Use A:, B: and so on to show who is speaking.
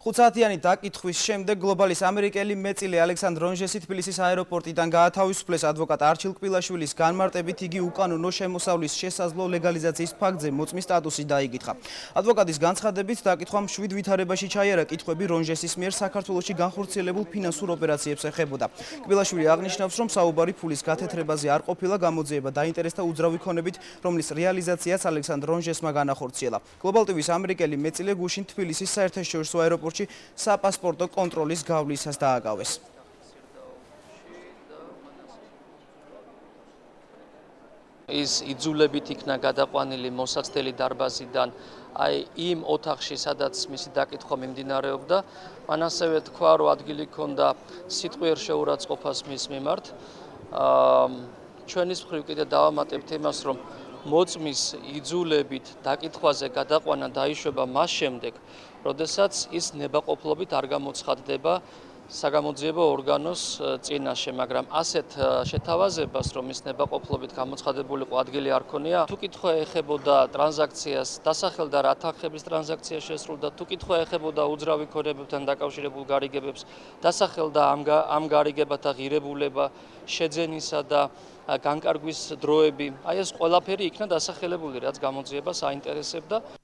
A: 5 საათიანი დაკითხვის შემდეგ გლობალის ამერიკელი მეწილე ალექსანდრ რონჟესი თბილისის აეროპორტიდან გაათავისუფლეს. ადვოკატ არჩილ კბილაშვილის განმარტებით იგი უკანონო შემოსავლის შესაძლო ლეგალიზაციის ფაქტზე მოწმის სტატუსი დაიკითხა. ადვოკატის განცხადებით დაკითხვა მშვიდ ვითარებაში ჩაიარა კითხვები რონჟესის მიერ საქართველოში განხორციელებულ ფინანსურ ოპერაციებს ეხებოდა. კბილაშვილი აღნიშნავს, რომ საუბარი ფულის გათეთრებაზე არ ყოფილა, გამოძიება დაინტერესდა უძრავი ქონებით, რომლის რეალიზაციაც ალექსანდრ რონჟესმა განახორციელა. გლობალ ტივის ამერიკელი მეწილე გუშინ თბილისის საერთაშორისო აეროპორტში საპასპორტო კონტროლის გავლისას დააკავეს.
B: ის იძულებით იქნა გადაყვანილი მოსაცდელი დარბაზიდან იმ ოთახში, სადაც მისი დაკითხვა მიმდინარეობდა. მან ასევე თქვა, რომ ადგილი ჰქონდა სიტყვიერ შეურაცხყოფას მის მიმართ. ჩვენის მხრივ კიდე დავამატებთ იმას, რომ მოწმის იძულებით დაკითხვაზე გადაყვანა დაიშვება მას შემდეგ, როდესაც ის ნებაყოფლობით არ გამოცხადდება საგამოძიებო ორგანოს წინაშე, მაგრამ ასეთ შეთავაზებას, რომ ის ნებაყოფლობით გამოცხადებულიყო, ადგილი არ ქონია. თუ კითხვა ეხებოდა ტრანზაქციას, დასახელდა რა თანხების ტრანზაქცია შესრულდა, თუ კითხვა ეხებოდა უძრავი ქონებებთან დაკავშირებულ გარიგებებს, დასახელდა ამ გარიგებათა ღირებულება, შეძენისა და განკარგვის დროები. ეს ყველაფერი იქნა დასახელებული, რაც გამოძიებას აინტერესებდა.